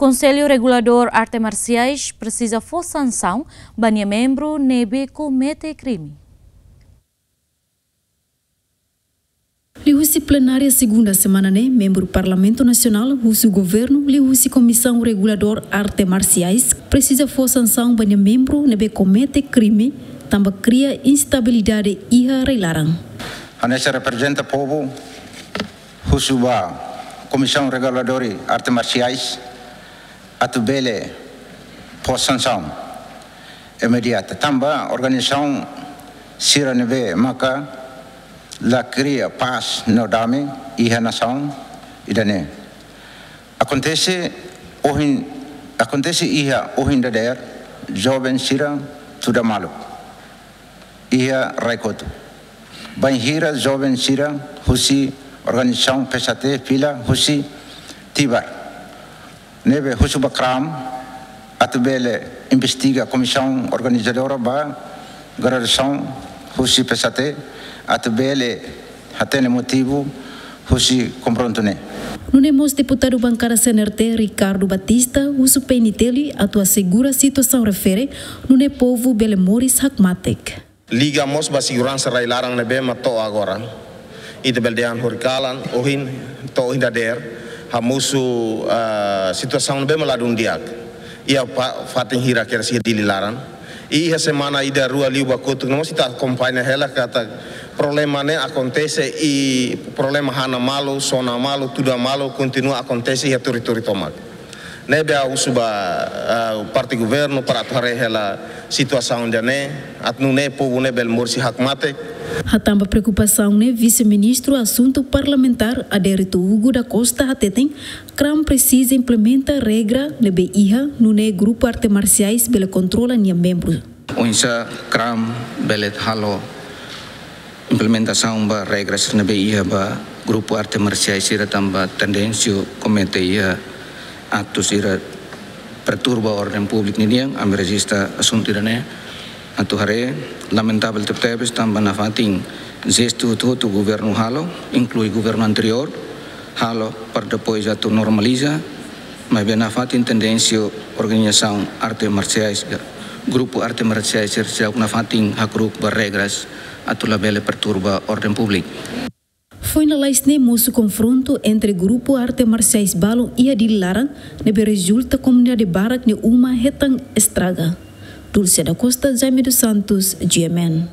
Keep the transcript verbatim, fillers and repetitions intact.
Konsellu Reguladór Arte Marsiais presiza fó sansaun ba nia membru ne'ebé komete krime. Liuhusi plenária segunda semana ne'e, membru Parlamentu Nasionál husu governu liuhusi Komisaun Reguladór Arte Marsiais presiza fó sansaun ba nia membru ne'ebé komete krime, tanba kria instabilidade iha rai-laran. Hanesan reprezenta povu, husu ba Komisaun Reguladór Arte Marsiais atu bele fó sansaun imediata, tanba organizasaun sira ne'ebé maka la kria pás no dame iha nasaun ida-ne'e. Akontese ohin, akontese iha ohin dadeer, joven sira tuda malu iha rai kotuk. Bainhira joven sira husi organizasaun P S H T fila husi Tibar, ne'ebé husu ba KRAM atu bele investiga, komisaun organizadora ba graduasaun husi P S H T, atu bele hatene motivu husi konfrontu ne'e. Nune'e mós deputadu bankada C N R T, Ricardo Batista, husu P N T L atu asegura situasaun refere, nune'e povu bele moris hakmatek. Liga mós ba seguransa rai-laran ne'ebé mak to'o agora. Ita bele dehan horikalan, ohin, to'o ohin dadeer, hamosu, ah, situasaun ne'ebé mak ladún di'ak. Iha pa-, fatin hirak kedas iha Dili laran. Iha semana ida rua liubá kotuk, no mós ita akompaña hela katak problema ne'e akontese i problema hana malu, sona malu, tuda malu, kontinua akontese iha territóriu tomak. Ne'ebé ha'u husu ba, ah, parte governu para atu haree hela situasaun ida-ne'e, atu nune'e povu ne'e bele moris hakmatek. Hatán ba preokupasaun ne'e, Vise-Ministru Asuntu Parlamentár Adérito Hugo da Costa hateten, KRAM presiza implementa regra ne'ebé iha, nune'e grupu arte marsiais bele kontrola nia membru. Oinsá KRAM bele halo implementasaun ba regras ne'ebé iha ba grupu arte marsiais sira, tanba tendénsia komete iha aktu sira perturba orden públika ninian, ami rejista asuntu ida-ne'e. Atu haree, lamentavel tebetebes, tanba nafatin jestu hotu-hotu governu halo, inklui governu anteriór, halo para depois atu normaliza, maibé nafatin tendénsia organizasaun arte marsiais, grupu arte marsiais sira seidauk nafatin hakru'uk ba regras atu labele perturba orden públika. Foin lalais ne'e mosu konfrontu entre grupu arte marsiais balun iha Dili laran, ne'ebé rezulta komunidade barak nia uma hetan estraga. Dulce da Costa, Jaime dos Santos, G M N.